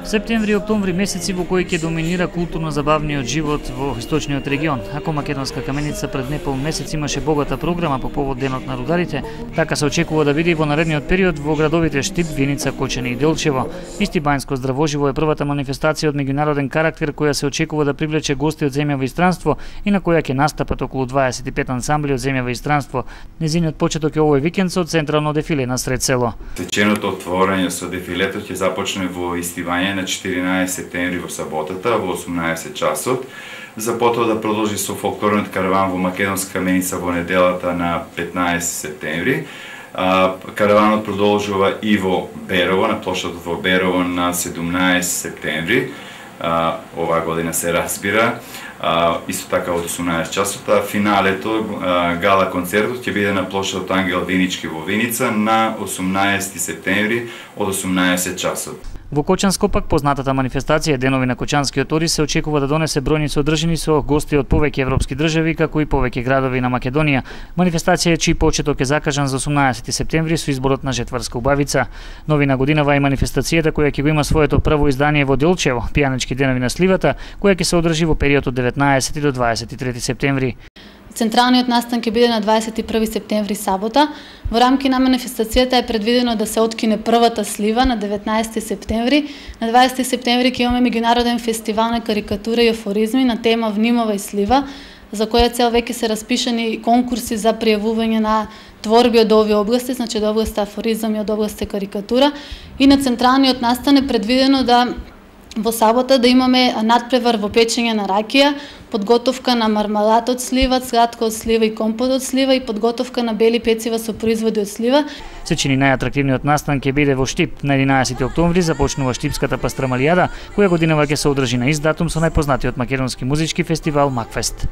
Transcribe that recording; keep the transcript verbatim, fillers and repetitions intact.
Септември и октомври месеци во кои ќе доминира културно-забавниот живот во источниот регион. Ако Македонска каменица пред непол месец имаше богата програма по повод Денот на рударите, така се очекува да види во наредниот период во градовите Штип, Виница, Кочани и Делчево. Исти Бајнско здравоживо е првата манифестација од меѓународен карактер која се очекува да привлече гости од земја во инстранство и на која ќе настапат околу дваесет и пет ансамбли од земја во инстранство. Незиниот почеток е овој викенд со централно дефиле на сред село. Свеченото отворање со дефилето ќе започне во Истивање на четиринаесет септември во саботата во осумнаесет часот, за потоа да продолжи со фолклорниот караван во Македонска каменица во неделата на петнаесет септември. Караванот продолжува и во Берово, на плошадот во Берово на седумнаесет септември. Оваа година се разбира. Исто така од осумнаесет часот, а финалето, гала концертот ќе биде на плошадот Ангел Винички во Виница на осумнаесети септември од осумнаесет часот. Во Кочанско пак познатата манифестација Денови на Кочанскиот Ори се очекува да донесе бројни содржини со гости од повеќе европски држави, како и повеќе градови на Македонија. Манифестација чиј почеток е закажан за осумнаесети септември со изборот на жетварска убавица. Новина годинава е манифестацијата која ќе го има своето прво издание во Делчево, Пијанички денови на сливата, која ќе се одржи во период од деветнаесети до дваесет и трети септември. Централниот настан ќе биде на дваесет и први септември сабота. Во рамки на манифестацијата е предвидено да се откине првата слива на деветнаесети септември. На дваесети септември ќе имаме меѓународен фестивал на карикатура и афоризми на тема Внимавај слива, за која цел веќе се распишани конкурси за пријавување на творби од овие области, значи од област афоризам и од област карикатура. И на централниот настан е предвидено да во сабота да имаме надпревар во печење на ракија, подготовка на мармалад од слива, сладко од слива и компот од слива и подготовка на бели пецива со производи од слива. Се чини најатрактивниот настан ќе биде во Штип. На единаесети октомври започнува Штипската пастрамалијада, која годинава ќе се одржи на ист датум со најпознатиот македонски музички фестивал Макфест.